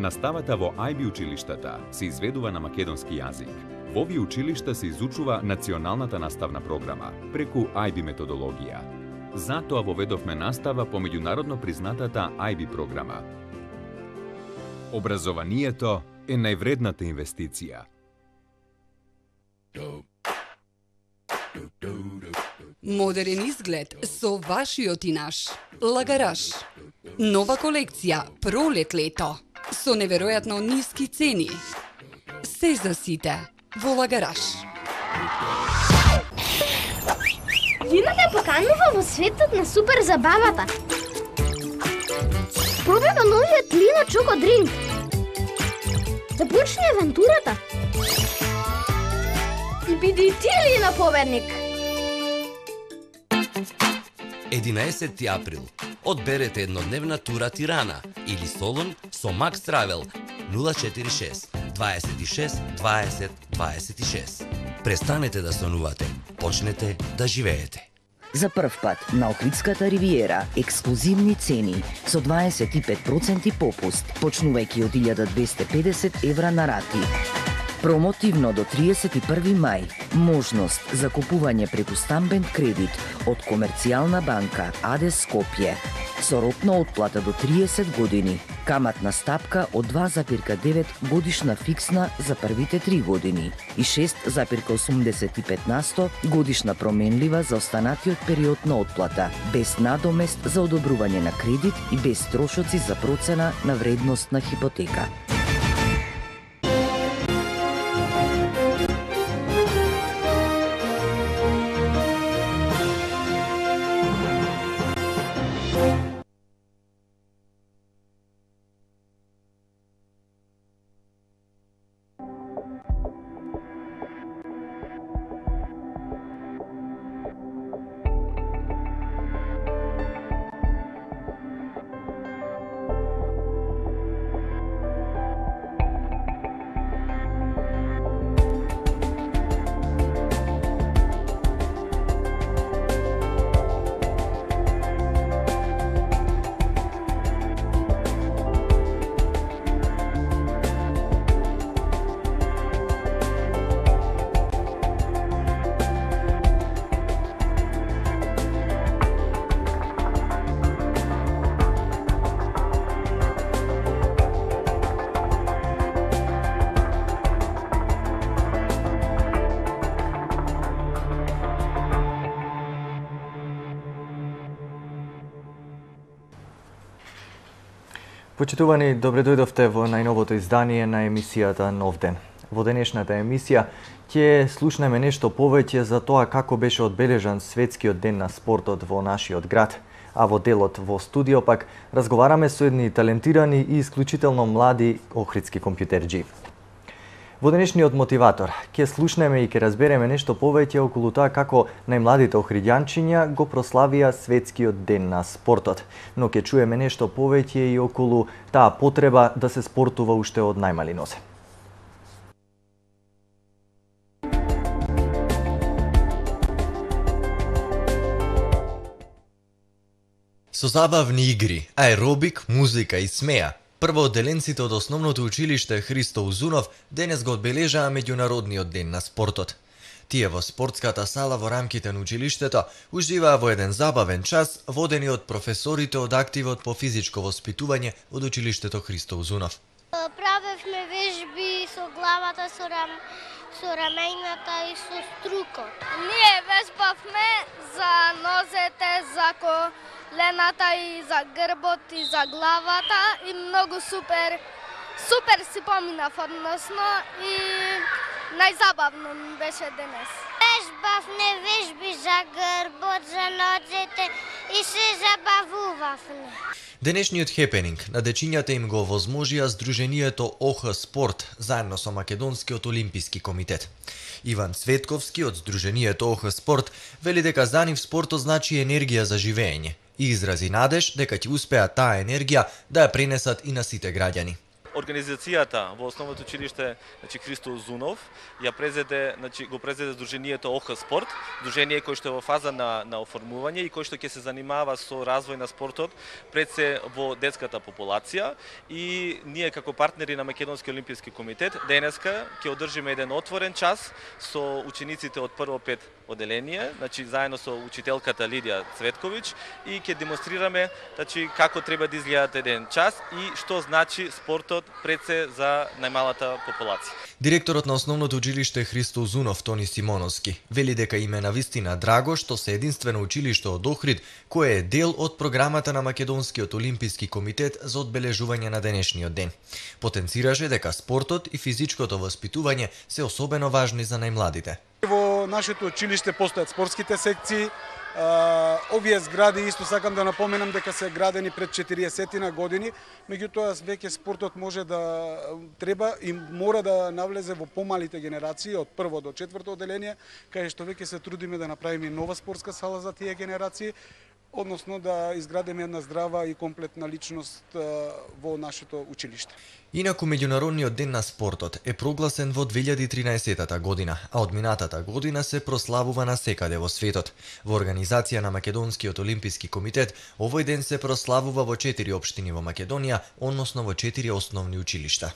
Наставата во IB училиштата се изведува на македонски јазик. Во овие училишта се изучува националната наставна програма преку IB методологија. Затоа воведовме настава по меѓународно признатата IB програма. Образованието е највредната инвестиција. Модерен изглед со вашиот и наш. Лагараш. Нова колекција пролет-лето со неверојатно ниски цени. Се за сите во Лагараш. Лина ме поканува во светот на супер забавата. Пробајме новиот Лина Чоко Дринк. Да почне авантурата. И биди и ти Лина победник. 11 април. Одберете еднодневна тура Тирана или Солун со Макс Travel 046 26 20 26. Престанете да сонувате, почнете да живеете. За прв пат на Охридската ривиера ексклузивни цени со 25% попуст, почнувајќи од 1250 евра на рати. Промотивно до 31 мај, можност за купување преку стамбен кредит од Комерцијална банка АД Скопје со рок на отплата до 30 години, каматна стапка од 2,9 годишна фиксна за првите 3 години и 6,85% годишна променлива за останатиот период на отплата, без надомест за одобрување на кредит и без трошоци за процена на вредност на хипотека. Почитувани, добре дојдовте во најновото издание на емисијата Нов ден. Во денешната емисија ќе слушнеме нешто повеќе за тоа како беше одбележан светскиот ден на спортот во нашиот град, а во делот во студио пак разговараме со едни талентирани и исклучително млади охридски компјутерџи. Во денешниот мотиватор ќе слушнеме и ќе разбереме нешто повеќе околу тоа како најмладите охридјанчиња го прославија светскиот ден на спортот, но ќе чуеме нешто повеќе и околу таа потреба да се спортува уште од најмали нозе. Со забавни игри, аеробик, музика и смеа, првоодделенците од основното училиште Христо Узунов денес го одбележаа меѓународниот ден на спортот. Тие во спортската сала во рамките на училиштето уживаа во еден забавен час, водени од професорите од активот по физичко воспитување од училиштето Христо Узунов. Правевме вежби со главата, со рамењата и со струкот. Ние вежбавме за нозете, за колената и за грбот и за главата и многу супер си поминав, односно и најзабавно ми беше денес. Вежбавме вежби за грбот, за нозете и се забавувавме. Денешниот хепенинг на дечињата им го овозможија Сдруженијето ОХ Спорт заедно со Македонскиот олимписки комитет. Иван Цветковски од Сдруженијето ОХ Спорт вели дека за нив спортот значи енергија за живење и изрази надеж дека ќе успеат таа енергија да ја пренесат и на сите граѓани. Организацијата во основното училиште, Христо Узунов, го презеде Сдруженијето ОХ Спорт, сдружение кој што е во фаза на оформување и кој што ќе се занимава со развој на спортот пред се во детската популација, и ние како партнери на Македонски олимписки комитет денеска ќе одржиме еден отворен час со учениците од прво 5 оделение, заедно со учителката Лидија Цветковиќ, и ќе демонстрираме како треба да изгледат еден час и што значи спортот пред се за најмалата популација. Директорот на основното училиште Христо Узунов, Тони Симоновски, вели дека им е навистина драго што се единствено училиште од Охрид кое е дел од програмата на Македонскиот олимписки комитет за одбележување на денешниот ден. Потенцираше дека спортот и физичкото воспитување се особено важни за најмладите. Во нашето училиште постојат спортските секции. Овие згради, исто сакам да напоменам дека се градени пред 40 години, меѓутоа веќе спортот може да треба и мора да навлезе во помалите генерации од прво до четврто оделение, кај што веќе се трудиме да направиме нова спортска сала за тие генерации, односно да изградиме една здрава и комплетна личност во нашето училиште. Инаку Меѓународниот ден на спортот е прогласен во 2013 година, а од минатата година се прославува насекаде во светот. Во организација на Македонскиот олимписки комитет, овој ден се прославува во 4 општини во Македонија, односно во 4 основни училишта.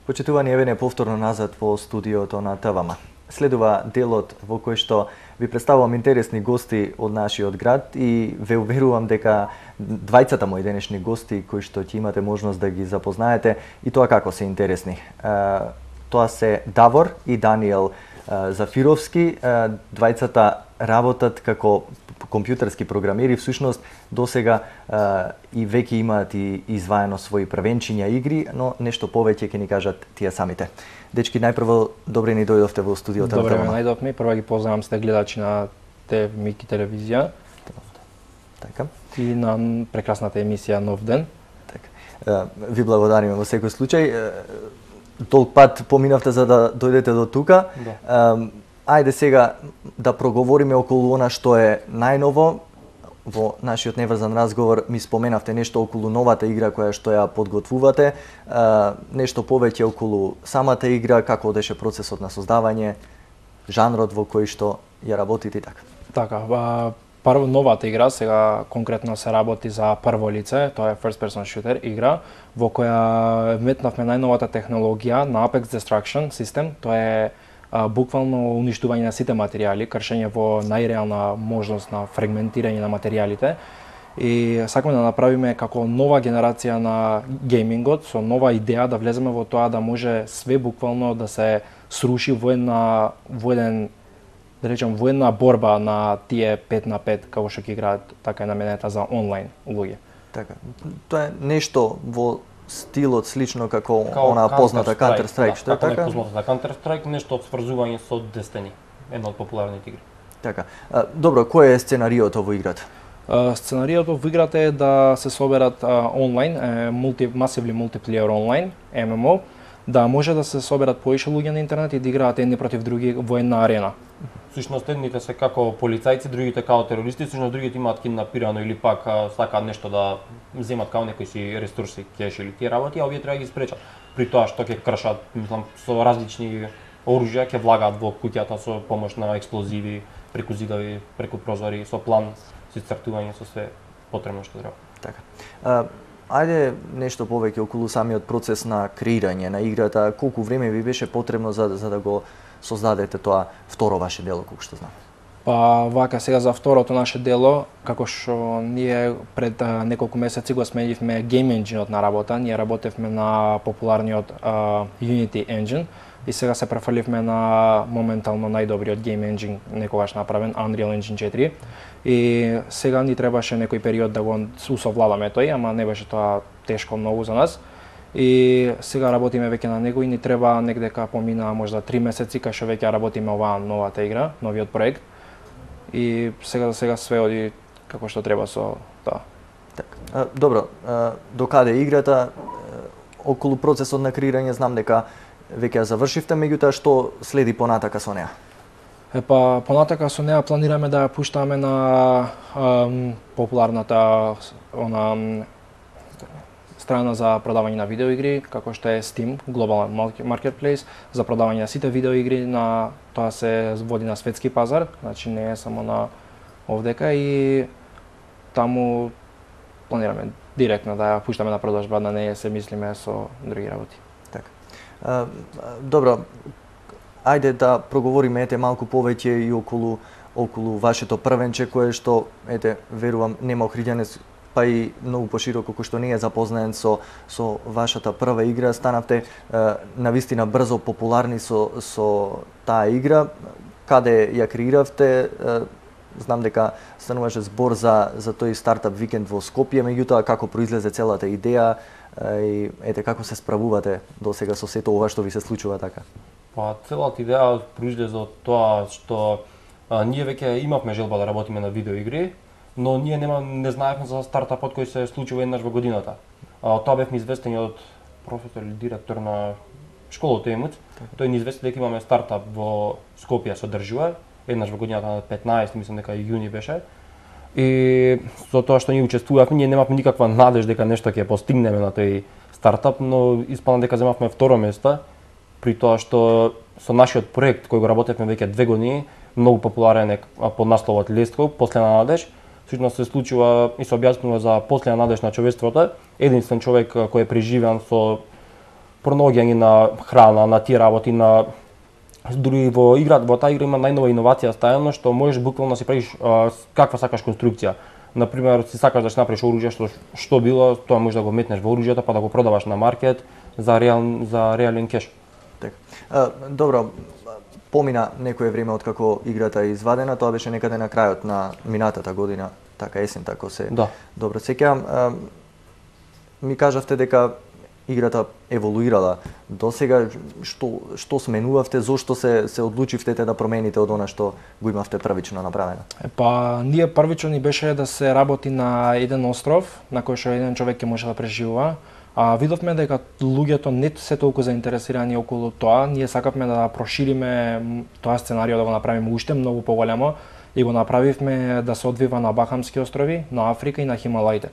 Почитувани, еве повторно назад во студиото на ТВМ. Следува делот во кој што ви представувам интересни гости од нашиот град и ве уверувам дека двајцата мои денешни гости кои што ќе имате можност да ги запознаете и тоа како се интересни. Тоа се Давор и Даниел Зафировски, двајцата работат како компјутерски програмери, всушност досега и веќе имаат и изваено своји првенчиња игри, но нешто повеќе ќе ни кажат тие самите. Дечки, најпрво добре ни дојдовте во студиото. Добре, најдовме. Прво ги поздравам сте гледачи на ТВ-Мики телевизија. Така. И на прекрасната емисија Нов ден. Така. Ви благодариме во секој случај. Толк пат поминавте за да дојдете до тука. Да. Ајде сега да проговориме околу она што е најново. Во нашиот неврзан разговор ми споменавте нешто околу новата игра која што ја подготвувате, нешто повеќе околу самата игра, како одеше процесот на создавање, жанрот во кој што ја работите и така. Така, прво новата игра сега конкретно се работи за прво лице, тоа е first person shooter игра во која вметнавме најновата технологија на Apex Destruction систем, тоа е буквално уништување на сите материјали, кршење во најреална можност на фрагментирање на материјалите. И сакаме да направиме како нова генерација на геймингот, со нова идеја да влеземе во тоа да може све буквално да се сруши во една борба на тие 5 на 5 како што ќе играат, така е наменета за онлайн луѓе. Така. Тоа е нешто во стилот слично како она позната Counter-Strike, што е така? Како непознатата Counter-Strike, нешто од сврзување со Destiny, една од популарните игри. Така. Добро, кој е сценариото во играта? Сценариото во играта е да се соберат онлайн, massively multiplayer онлайн, MMO, да може да се соберат поише луѓе на интернет и да играат едни против други во една арена. Всушност едните се како полицајци, другите како терористи, всушност другите имаат киднапирано или пак сакаат нешто да земат како некои си ресурси, кеш или тие работи, а овие треба да ги спречат. При тоа што ќе кршат, мислам, со различни оружја, ќе влагаат во куќата со помош на експлозиви, преку зидови, преку прозори, со план, со исцртување, со све потребно што треба. Така. Ајде нешто повеќе околу самиот процес на креирање на играта, колку време ви беше потребно за да го создадете тоа второ ваше дело, колку што знам? Па вака сега за второто наше дело, како што ние пред неколку месеци го сменивме Game Engine-от на работа, ние работевме на популарниот Unity Engine и сега се префаливме на моментално најдобриот Game Engine некогаш направен, Unreal Engine 4. И сега ни требаше некој период да го усовладаме тој, ама не беше тоа тешко многу за нас. И сега работиме веќе на него и ни треба негдека помина можда 3 месеци кај што веќе работиме оваа новата игра, новиот проект. И сега за сега све оди како што треба со тоа. Така. Добро, до каде играта, околу процесот на креирање знам дека веќе ја завршивте, меѓутоа што следи понатака со неа? Епа, понатака со неа планираме да ја пуштаме на популарната страна за продавање на видеоигри, како што е Steam, Global Marketplace, за продавање на сите видеоигри, на тоа се води на светски пазар, значи не е само на овдека, и таму планираме директно да ја пуштаме на продажба, да не се мислиме со други работи. Така. Добро, ајде да проговориме малку повеќе и околу вашето првенче, кое што, верувам, нема охриѓанец, па и многу пошироко, кој што не е запознаен со вашата прва игра, станавте навистина брзо популарни со таа игра. Каде ја креиравте? Знам дека стануваше збор за тој стартап викенд во Скопје, меѓутоа како произлезе целата идеја и како се справувате досега со сето ова што ви се случува така? Па целата идеја произлезе од тоа што ние веќе имавме желба да работиме на видеоигри, но ние не знаевме за стартапот кој се случува еднаш во годината. Тоа бевме известени од професор или директор на школата Емуц. Тој ни извести дека имаме стартап во Скопје се одржува еднаш во годината на 15, мислам дека јуни беше. И со тоа што ние учествувавме, ние немавме никаква надеж дека нешто ќе постигнеме на тој стартап, но испадна дека земавме второ место, при тоа што со нашиот проект кој го работевме веќе 2 години, многу популарен е под насловот Лесткоп, Последна надеж. Всушност се случува и се објаснува за последна надеж на човештвото. Единствен човек кој е преживеан со пронаоѓање на храна, на тие работи, на дури во таа игра има најнова иновација ставено, што можеш буквално да си правиш каква сакаш конструкција. Например, си сакаш да си направиш оружје што било, тоа можеш да го метнеш во оружјето па да го продаваш на маркет за реален кеш. Така. Добро, помина некое време откако играта е извадена, тоа беше некаде на крајот на минатата година, така есента, ако се добро сеќавам. Ми кажавте дека играта еволуирала. Досега што сменувавте, зошто се одлучивте да промените од она што го имавте првично направено? Па ние првично ни беше да се работи на еден остров на кој што еден човек ќе може да преживува. Видовме дека луѓето не се толку заинтересирани околу тоа. Ние сакавме да прошириме тоа сценарио, да го направиме уште многу поголемо, и го направивме да се одвива на Бахамски острови, на Африка и на Хималаите,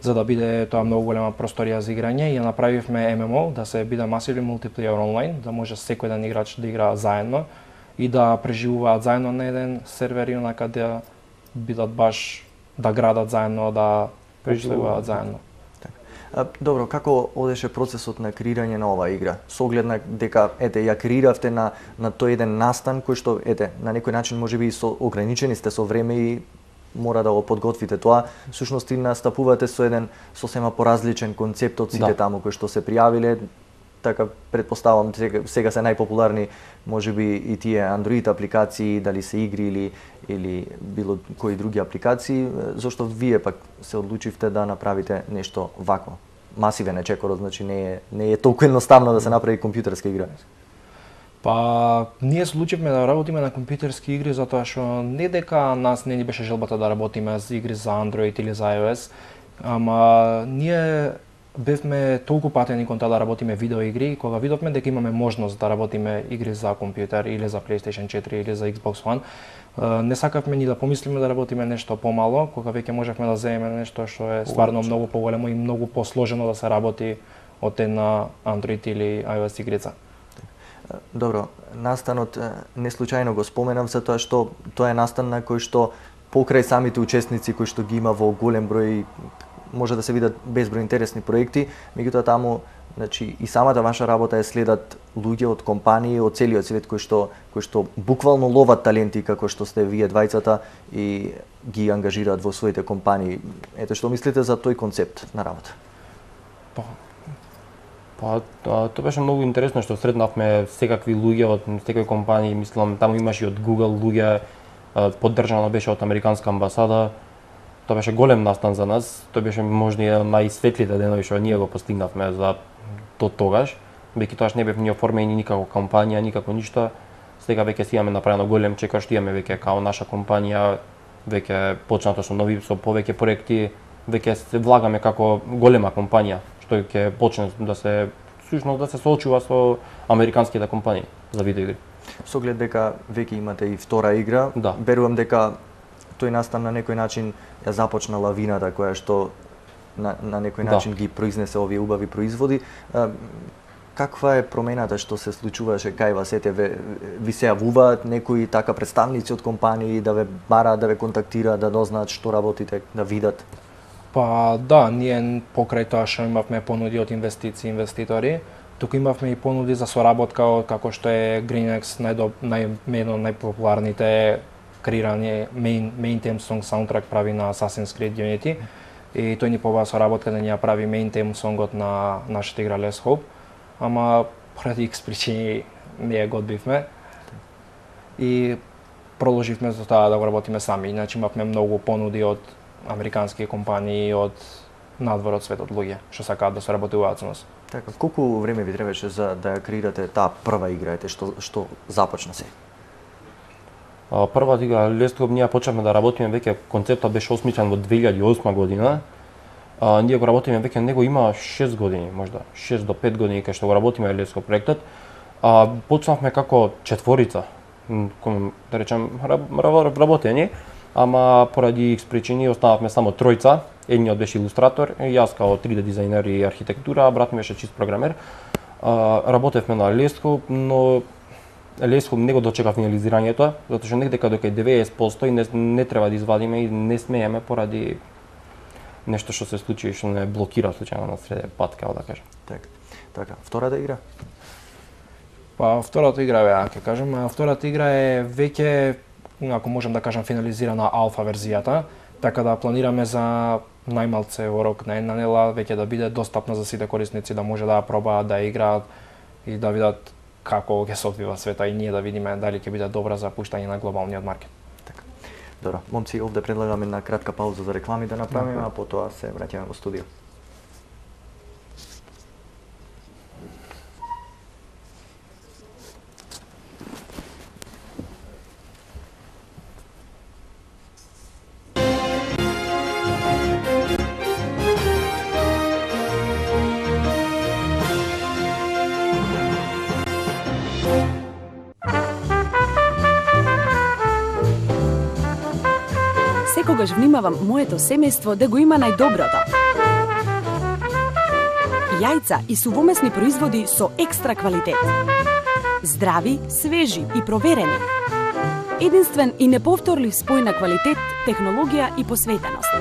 за да биде тоа многу голема просторија за играње, и ја направивме ММО, да се биде масивен мултиплеер онлайн, да може секој еден играч да игра заедно и да преживуваат заедно на еден сервер, и онака да бидат баш да градат заедно, да преживуваат заедно. Добро, како одеше процесот на креирање на оваа игра? Со оглед на дека ја креиравте на тој еден настан кој што на некој начин можеби ограничени сте со време и мора да го подготвите тоа, всушност и настапувате со еден сосема поразличен концепт од сите таму кои што се пријавиле. Така претпоставам сега се најпопуларни можеби и тие Android апликации, дали се игри или било кои други апликации. Зошто вие пак се одлучивте да направите нешто вакво? Масивен е чекорот, значи не е толку едноставно да се направи компјутерска игра. Па ние се одлучивме да работиме на компјутерски игри затоа што не дека нас не ни беше желбата да работиме за игри за Android или за iOS, ама ние бевме толку патени кон тоа да работиме видеоигри, кога видовме дека имаме можност да работиме игри за компјутер или за PlayStation 4 или за Xbox One, не сакавме ни да помислиме да работиме нешто помало, кога веќе можевме да земеме нешто што е стварно многу поголемо и многу посложено да се работи од една Android или iOS игрица. Добро, настанот не случајно го споменав затоа што тоа е настан на кој што покрај самите учесници кои што ги има во голем број, може да се видат безброј интересни проекти, меѓутоа таму, значи, и самата ваша работа следат луѓе од компании од целиот свет кои што буквално ловат таленти како што сте вие двајцата и ги ангажираат во своите компании. Ете, што мислите за тој концепт на работа? Тоа беше многу интересно што сретнавме секакви луѓе од секој компанија, мислам таму имаше и од Google луѓе, поддржано беше од американска амбасада. Тоа беше голем настан за нас, тоа беше можда и најсветлите денови што ние го постигнавме за тогаш. Веќе тоаш не бевме оформени никако кампања, никако ништо. Сега веќе си имаме направено голем чекор, што имаме веќе као наша компанија, веќе почнато со нови, со повеќе проекти, веќе се влагаме како голема компанија, што ќе почне да се соочува со американските компании за видеоигри. Со оглед дека веќе имате и втора игра, Да. верувам дека тој настан на некој начин ја започна лавината која што на некој начин ги произнесе овие убави производи. Каква е промената што се случуваше кај вас? Ете, ви се јавуваат некои така представници од компании да ве бараат, да ве контактираат, да дознаат што работите, да видат? Па да, ние покрај тоа што имавме понуди од инвеститори, туку имавме и понуди за соработка како што е Greenex, едно од најпопуларните креирани main theme song саундтрак прави на Assassin's Creed Unity и тој ни побава соработка да ни ја прави main theme songот на нашата игра Let's Hope, ама поради X причини не ја готвивме и продолживме за тоа да го работиме сами. Иначе имавме многу понуди од американски компании, од надвор од светот луѓе што сакаат да соработуваат со нас. Така, колку време ви требаше за да ја креирате таа прва игра, што започна се? Првата игра Let's Hope ние почнавме да работиме веќе, концептот беше осмислен во 2008 година. Ние го работиме веќе, него има 6 години, можда 6 до 5 години кај што го работиме Let's Hope проектот. Почнавме како четворица, да речем работење, ама поради X причини останавме само тројца. Едниот беше илустратор, јас као 3D дизајнер и архитектура, брат ми беше чист програмер. Работевме на Let's Hope, но Let's Hope не го дочека финализирањето, затоа што некаде дека 90% и не треба да извадиме и не смееме поради нешто што се случи и што не блокира случајно на среде пат, како да кажам. Така. Втората игра? Па втората игра ќе кажам, втората игра е веќе, ако можам да кажам, финализирана алфа верзијата, така да планираме за најмалце во рок на една недела веќе да биде достапна за сите корисници, да може да ја пробаат, да ја играат и да видат како ќе се одвива света и ние да видиме дали ќе биде добра за пуштање на глобалниот маркет. Така. Добро, момци, овде предлагаме на кратка пауза за реклами да направиме, а потоа се враќаме во студио. Секогаш внимавам моето семејство да го има најдоброто. Јајца и сувомесни производи со екстра квалитет. Здрави, свежи и проверени. Единствен и неповторлив спој на квалитет, технологија и посветеност.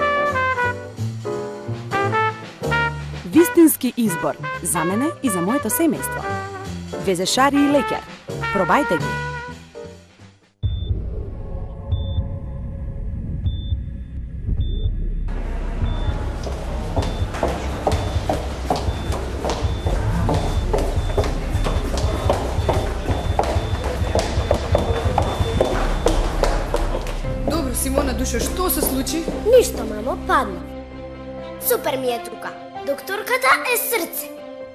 Вистински избор за мене и за моето семејство. Везешари и лекер. Пробајте ги. Што се случи? Ништо, мамо, падна. Супер ми е тука. Докторката е срце.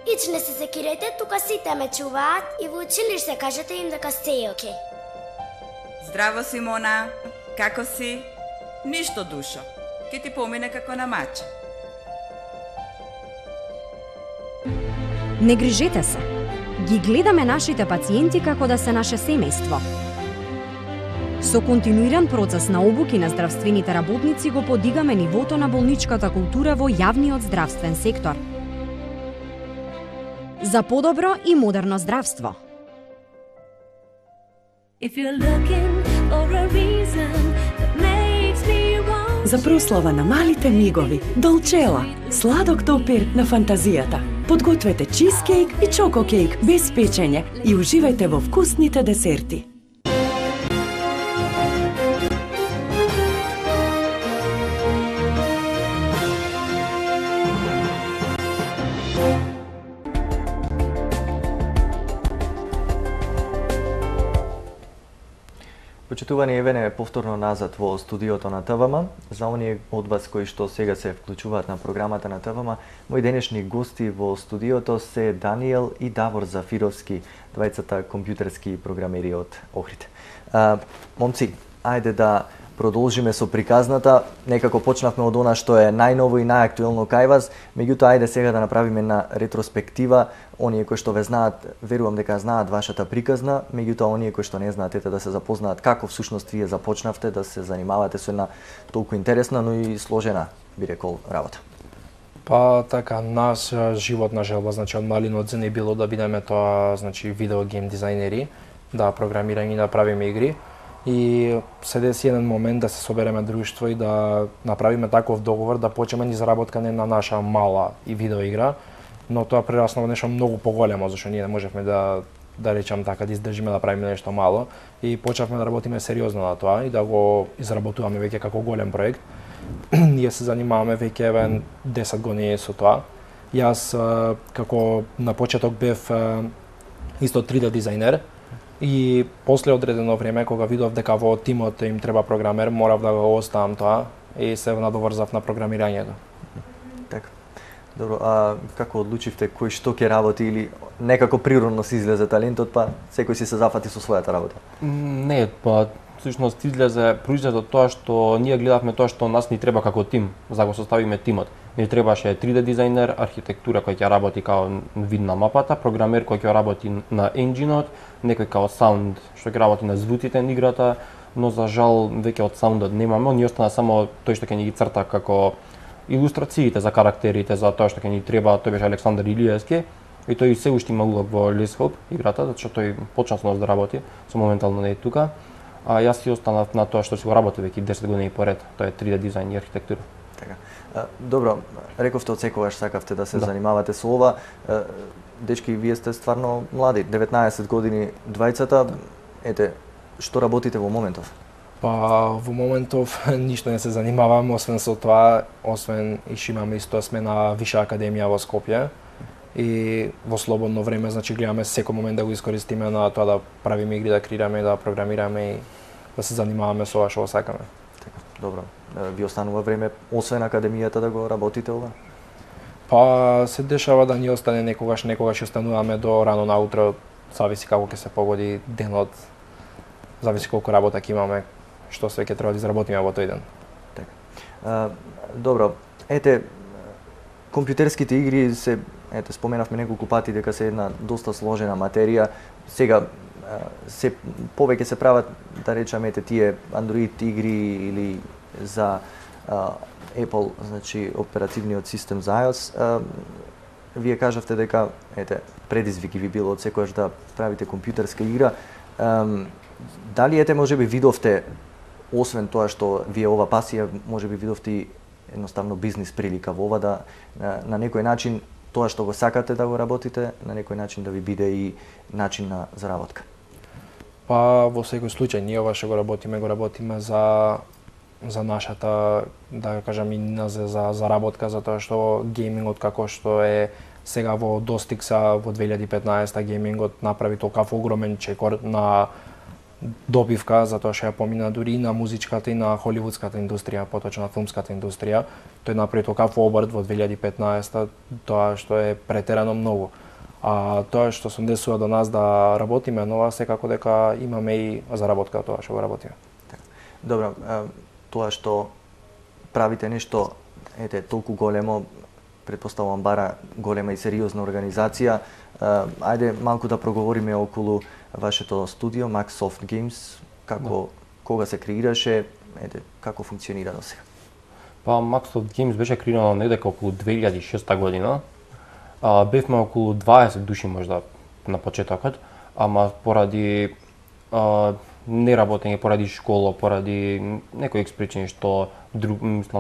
Ич не се секирете, тука сите ме чуваат и во училиште кажете им дека сте окей. Здраво, Симона. Како си? Ништо, душо. Ке ти помине како на мача. Не грижете се. Ги гледаме нашите пациенти како да се наше семејство. Со континуиран процес на обуки на здравствените работници го подигаме нивото на болничката култура во јавниот здравствен сектор. За подобро и модерно здравство. За прослава на малите мигови, Долчела, сладок топир на фантазијата. Подгответе чизкейк и чококейк без печење и уживајте во вкусните десерти. Почитувани, евене повторно назад во студиото на ТВМ. За оние од вас кои што сега се вклучуваат на програмата на ТВМ, мои денешни гости во студиото се Даниел и Давор Зафировски, двајцата компјутерски програмери од Охрид. Момци, ајде да продолжиме со приказната. Некако почнавме од она што е најново и најактуелно кај вас, меѓутоа ајде сега да направиме на ретроспектива. Оние кои што ве знаат, верувам дека знаат вашата приказна, меѓутоа оние кои што не знаат, ете да се запознаат како всушност вие започнавте да се занимавате со една толку интересна, но и сложена, би рекол, работа. Па така, нас животна желба, значи од малин одзен е било да бидеме тоа, значи видеогейм дизајнери, да програмираме и да правиме игри. И се деси еден момент да се собереме друштво и да направиме таков договор да почнеме низ заработкане на наша мала и видеоигра, но тоа прерасна во нешто многу поголемо, зашто ние не можевме да речам така да издржиме да правиме нешто мало и почнавме да работиме сериозно на тоа и да го изработуваме веќе како голем проект. Ние се занимаваме веќе 10 години со тоа. Јас како на почеток бев исто 3D дизајнер и после одредено време кога видов дека во тимот им треба програмер, морав да го оставам тоа и се надоврзав на програмирањето. Така. Добро, а како одлучивте кој што ќе работи или некако природно се излезе талентот, па секој си се зафати со својата работа? Не, па всушност произлезе од тоа што ние гледавме тоа што нас ни треба како тим, за да го составиме тимот. Ни требаше 3D дизајнер, архитектура кој ќе работи као вид на мапата, програмер кој ќе работи на енџинот, некој као саунд што ќе работи на звуците на играта, но за жал веќе од саундот немаме, ни остана само тој што ќе ни ги црта како илустрациите за карактерите, за тоа што ќе ни треба, тој беше Александар Илиевски и тој се уште има улог во Let's Hope играта, затоа што тој почна со нас да работи, со моментално не е тука. А јас си останав на тоа што си го работи веќе 10 години поред, тоа е 3D дизајн и архитектура. Така. Добро, рековте од секогаш сакавте да се занимавате со ова. Дечки, вие сте стварно млади, 19 години двајцата. Ете, што работите во моментов? Па во моментов ништо не се занимавам освен со тоа, освен и што имаме исто сме на Виша академија во Скопје. И во слободно време, значи гледаме секој момент да го искористиме на тоа да правиме игри, да креираме, да програмираме и да се занимаваме со ова што сакаме. Така, добро. Ви останува време освен академијата да го работите ова? Па се дешава да ни остане некогаш остануваме до рано наутро, зависи како ќе се погоди денот, зависи колку работа ќе имаме, што све ќе треба да изработиме во тој ден. Така. Добро, ете, компјутерските игри се, ете, споменавме неколку пати дека се една доста сложена материја. Сега се повеќе се прават, да речеме, ете тие Android игри или за Apple, значи оперативниот систем за iOS. Вие кажавте дека ете предизвик ви било од секојаш да правите компјутерска игра. Дали ете можеби видовте, освен тоа што ви е ова пасија, можеби видовте и едноставно бизнис прилика во ова да на некој начин тоа што го сакате да го работите, на некој начин да ви биде и начин на заработка? Па во секој случај ние ова што го работиме за нашата, да кажам, и за заработка, затоа што геймингот како што е сега во достиг во 2015 геймингот направи толкав огромен чекор на добивка, затоа што ја помина дури и на музичката и на холивудската индустрија, поточно на филмската индустрија. Тој направи толкав обрт во 2015, тоа што е претерано многу. А тоа што се десува до нас да работиме, но секако дека имаме и заработка тоа што го работиме. Добро, тоа што правите нешто, ете, толку големо, претпоставувам бара голема и сериозна организација. Ајде малку да проговориме околу вашето студио Max Soft Games, како кога се креираше, ете, како функционира до сега? Па Max Soft Games беше креирано недека околу 2006 година. Бевме околу 20 души можда на почетокот, ама поради неработење, поради школа, поради некои причини што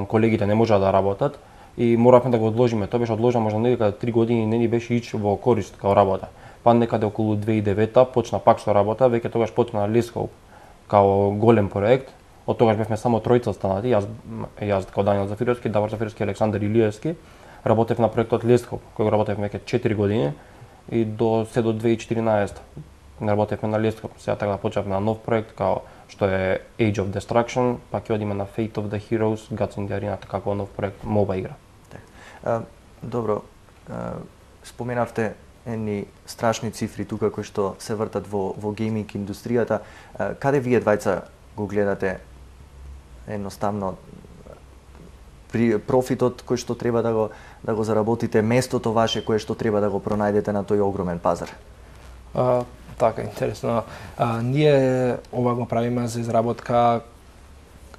колегите не можаа да работат и моравме да го одложиме. Тоа беше одложено можда некаде 3 години, не ни беше ич во корист као работа. Па некаде околу 2009 почна пак со работа, веќе тогаш почна Let's Hope као голем проект. Од тогаш бевме само тројца останати, јас као Даниел Зафировски, Давор Зафировски и Александар Илиевски. Работев на проектот Let's Hope, кој го работев веќе 4 години и до 2014 работевме на Let's Hope. Сега така почнавме на нов проект као што е Age of Destruction, па ќе одиме на Fate of the Heroes, Gods in the Arena, како нов проект, моба игра. Добро, споменавте едни страшни цифри тука кои што се вртат во гейминг индустријата. Каде вие двајца го гледате едноставно профитот кој што треба да го заработите, местото ваше кое што треба да го пронајдете на тој огромен пазар? Така, интересно. Ние ова го правиме за изработка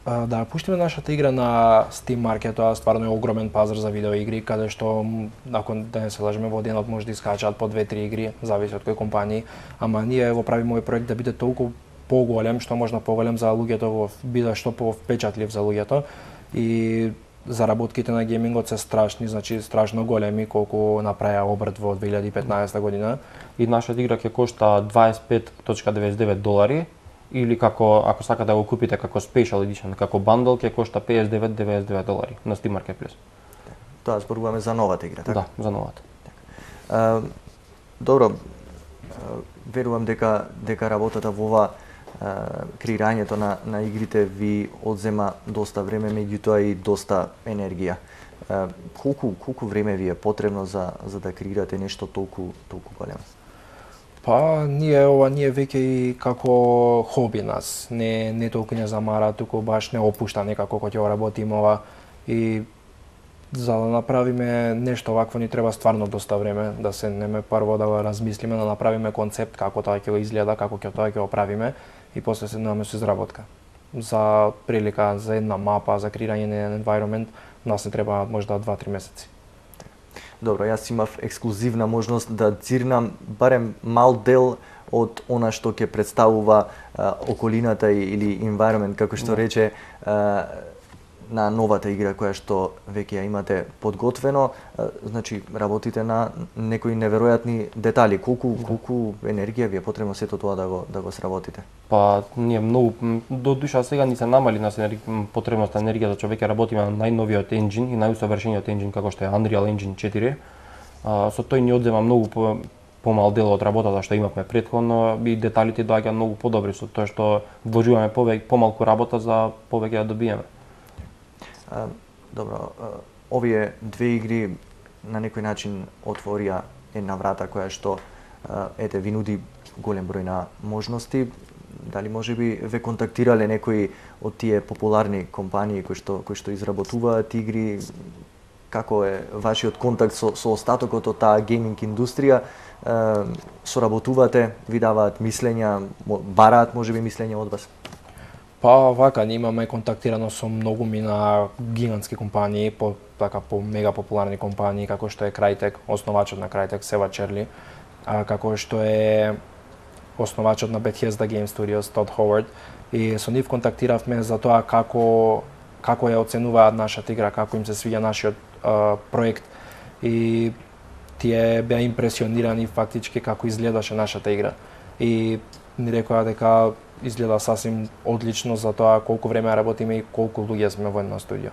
да пуштиме нашата игра на Steam Market, тоа стварно е огромен пазар за видеоигри, каде што, ако да не се лажеме, во денот може да искачаат по 2-3 игри, зависи од кој компании, ама ние го правиме овој проект да биде толку поголем, што можно поголем за луѓето, биде што повпечатлив за луѓето, и заработките на геймингот се страшни, значи страшно големи, колку направија обрт во 2015 година. И нашата игра ќе кошта $25.99, или ако сакате да го купите како Special Edition, како bundle, ќе кошта $59.99 на Steam Marketplace. Тоа зборуваме за новата игра, така? Да, за новата. Добро, верувам дека работата во ова креирањето на игрите ви одзема доста време, меѓутоа и доста енергија. Колку време ви е потребно за да креирате нешто толку големо? Па, ние веќе и како хоби нас, не толку не замара, туку баш не опушта некако кога ќе работиме ова, и за да направиме нешто вакво ни треба стварно доста време, да седнеме прво да го размислиме, да направиме концепт како тоа ќе го изгледа, како тоа ќе го правиме, и после седнеме со изработка. За прилика, за една мапа, за креирање на environment, нас не треба можда 2-3 месеци. Добро, јас имав ексклузивна можност да цирнам барем мал дел од она што ќе представува околината или environment, како што рече, на новата игра која што веќе ја имате подготвено. Значи, работите на некои неверојатни детали. Колку енергија ви е потребно сето тоа да го сработите? Па, ние многу, до душа сега ни се намали нас потребноста енергија, за човек работиме на најновиот енџин и најусовршениот енџин како што е Unreal Engine 4. Со тој ни одзема многу помал дел од работата што имавме претходно, и деталите доаѓаат многу подобри со тоа што вложуваме помалку работа за повеќе да добиеме. Добро, овие две игри на некој начин отворија една врата која што ви нуди голем број на можности. Дали можеби ве контактирале некои од тие популарни компании кои што изработуваат игри? Како е вашиот контакт со остатокот од таа гейминг индустрија? Соработувате, ви даваат мислења, бараат можеби мислења од вас? Па вака, ние имаме контактирано со многу на гигантски компании, по мега популарни компании, како што е Crytek, основачот на Crytek, Сева Черли, како што е основачот на Bethesda Game Studios, Todd Howard, и со нив контактиравме за тоа како ја оценуваат нашата игра, како им се свиѓа нашиот проект, и тие беа импресионирани фактички како изгледаше нашата игра. И ни рекоа дека изгледа сасвим одлично за тоа колку време работиме и колку луѓе сме во едно студио.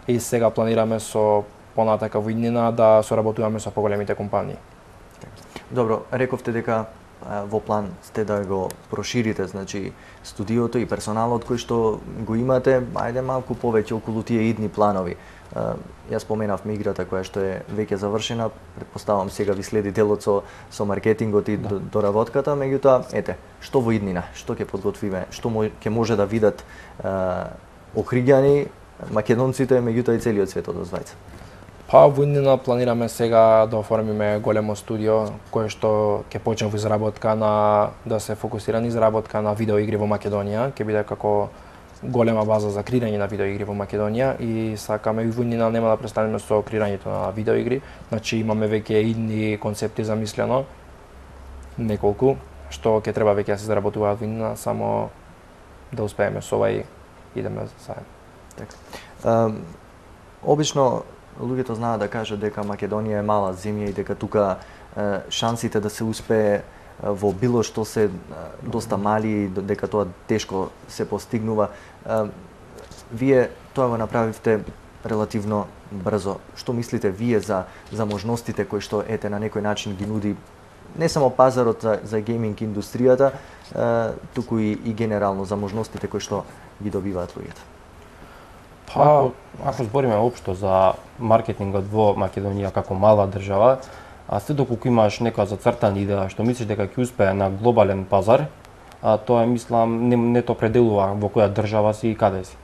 И сега планираме со понатака во иднина да соработуваме со поголемите компании. Добро, рековте дека во план сте да го проширите, значи студиото и персоналот кој што го имате, ајде малку повеќе околу тие идни планови. Јас споменавме играта која што е веќе завршена, претпоставам сега ви следи делот со маркетингот и доработката, меѓутоа, што во иднина, што ќе подготвиме, што ќе може да видат охриѓани, македонците, меѓутоа и целиот свет од Озвајца? Па во иднина планираме сега да оформиме големо студио кое што ќе почне во изработка да се фокусира на изработка на видеоигри во Македонија, ќе биде како голема база за креирање на видеоигри во Македонија, и сакаме и во иднина нема да престанеме со креирањето на видеоигри, значи имаме веќе идни концепти замислено, неколку, што ќе треба веќе да се заработуваат во иднина, само да успееме со ова и идеме заедно. Така. Обично луѓето знаат да кажат дека Македонија е мала земја и дека тука шансите да се успее во било што се доста мали, дека тоа тешко се постигнува. Вие тоа го направивте релативно брзо. Што мислите вие за можностите кои што на некој начин ги нуди не само пазарот за гейминг индустријата, туку и генерално за можностите кои што ги добиваат луѓето? Па, ако збориме општо за маркетингот во Македонија како мала држава, се доколку имаш нека зацртана идеја што мислиш дека ќе успее на глобален пазар, тоа мислам не те определува во која држава си и каде си.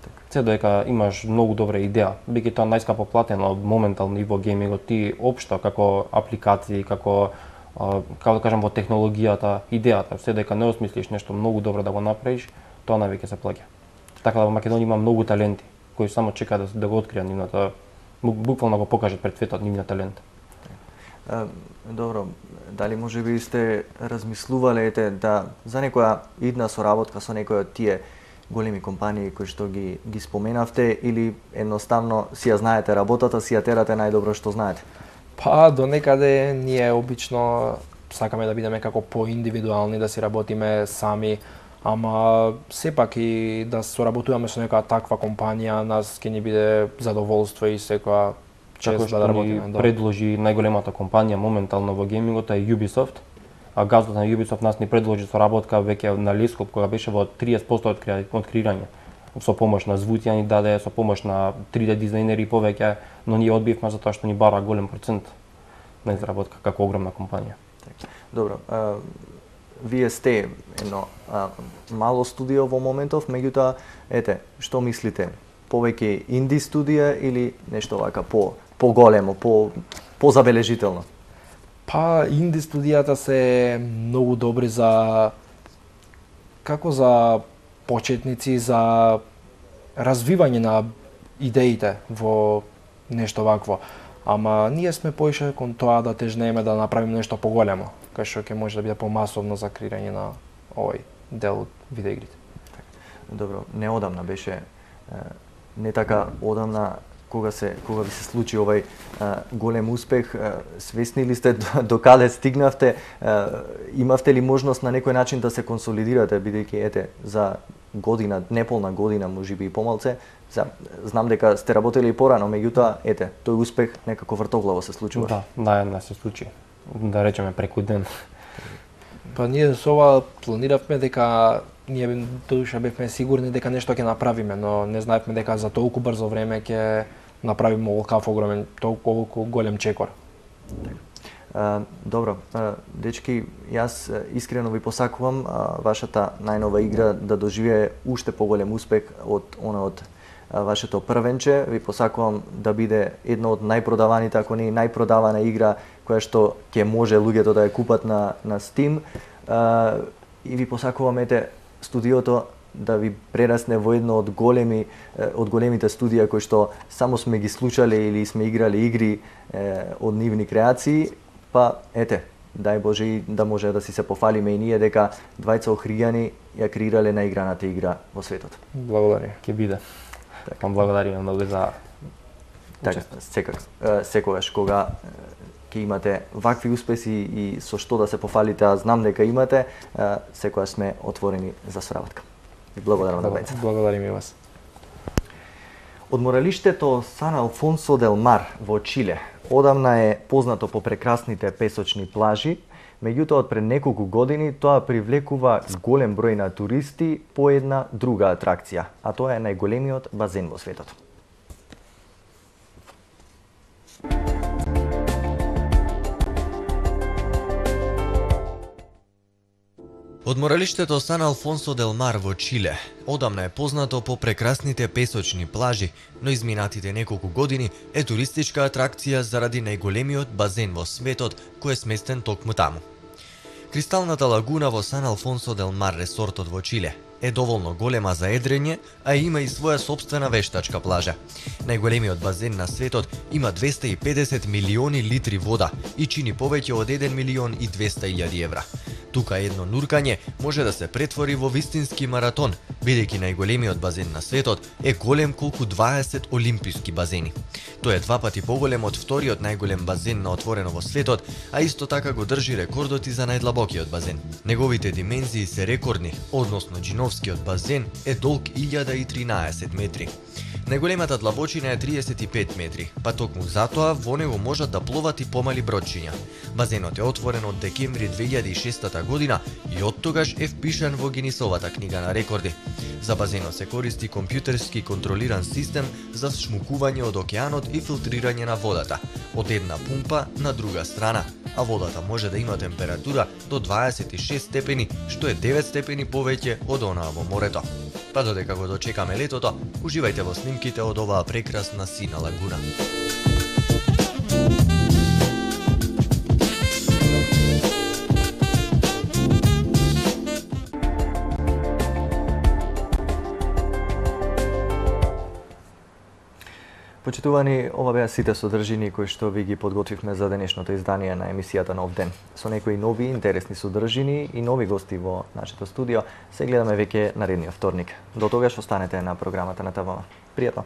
Така. се дека имаш многу добра идеја, бидејќи тоа најскапо платено моментално и во геймингот, ти општо како апликации, како да кажам во технологијата, идејата, се дека не осмислиш нешто многу добро да го направиш, тоа навеќе се плаќа. Така да во Македонија има многу таленти кои само чекаат да го откријат нивната, буквално го покажат пред светот нивниот талент. Добро, дали можеби сте размислувале да за некоја идна соработка со некој од тие големи компании кои што ги споменавте, или едноставно си ја знаете работата, си ја терате најдобро што знаете? Па до некаде ние обично сакаме да бидеме како поиндивидуални, да си работиме сами, ама сепак и да соработуваме со некоја таква компанија, нас ќе ни биде задоволство и секоја чест да работиме. Ни предложи најголемата компанија моментално во геймингот е Ubisoft, а газдот на Ubisoft нас ни предложи соработка веќе на Лескоп, кога беше во 30% од креирање. Со помош на звуци ни даде, со помош на 3D дизајнери повеќе, но ние одбивме затоа што ни бара голем процент на изработка како огромна компанија. Добро, вие сте едно мало студио во моментов, меѓутоа, што мислите? Повеќе инди студија или нешто вака поголемо, позабележително? Па, инди студијата се многу добри за почетници, за развивање на идеите во нешто вакво. Ама ние сме поише кон тоа да тежнееме да направиме нешто поголемо, кај што ќе може да биде помасовно за креирање на овој дел од видеоигрите. Добро, неодамна беше, не така одамна, кога ви се случи овај голем успех, свесни ли сте до каде стигнавте, имавте ли можност на некој начин да се консолидирате, бидејќи за година, неполна година, можеби и помалце, знам дека сте работели и порано, меѓутоа, тој успех некако вртоглаво се случува. Да, се случи. Да речеме преку ден. Па ние со ова планиравме дека ние душа бевме сигурни дека нешто ќе направиме, но не знаевме дека за толку брзо време ќе направиме оваков огромен, толку голем чекор. Добро, дечки, јас искрено ви посакувам вашата најнова игра да доживее уште поголем успех од вашето првенче. Ви посакувам да биде една од најпродаваните, ако не и најпродавана игра која што ќе може луѓето да ја купат на Steam. И ви посакувам студиото да ви прерасне во едно од големите студија кои што само сме ги слушале или сме играли игри од нивни креации. Па дај Боже и да може да си се пофалиме и ние дека двајца Охријани ја креирале наиграната игра во светот. Благодари, ќе биде. Вам благодариме многу за секогаш кога ќе имате вакви успеси и со што да се пофалите, а знам дека имате, секогаш сме отворени за соработка. И благодарам на двајцата. Благодарим и вас. Одморалиштето Сан Алфонсо дел Мар во Чиле одамна е познато по прекрасните песочни плажи, меѓутоа од пред неколку години тоа привлекува голем број на туристи по една друга атракција, а тоа е најголемиот базен во светот. Одморалиштето Сан Алфонсо дел Мар во Чиле одамна е познато по прекрасните песочни плажи, но изминатите неколку години е туристичка атракција заради најголемиот базен во светот кој е сместен токму таму. Кристалната лагуна во Сан Алфонсо дел Мар ресортот во Чиле е доволно голема за едрење, а има и своја сопствена вештачка плажа. Најголемиот базен на светот има 250 милиони литри вода и чини повеќе од 1 милион и 200.000 евра. Тука едно нуркање може да се претвори во вистински маратон, бидејќи најголемиот базен на светот е голем колку 20 олимписки базени. Тој е 2 пати поголем од вториот најголем базен на отворено во светот, а исто така го држи рекордот и за најдлабокиот базен. Неговите димензии се рекордни, односно Джиновскиот базен е долг 1013 метри. Најголемата длабочина е 35 метри, па токму затоа во него можат да пловат и помали бродчиња. Базенот е отворен од декември 2006 година и оттогаш е впишан во Гинисовата книга на рекорди. За базенот се користи компјутерски контролиран систем за шмукување од океанот и филтрирање на водата, од една пумпа на друга страна, а водата може да има температура до 26 степени, што е 9 степени повеќе од онаа во морето. Па додека го дочекаме летото, уживајте во снимките од оваа прекрасна сина лагуна. Почитувани, ова беа сите содржини кои што ви ги подготвивме за денешното издание на емисијата Нов ден. Со некои нови интересни содржини и нови гости во нашето студио се гледаме веќе наредниот вторник. До тогаш останете на програмата на ТВ. Пријатно!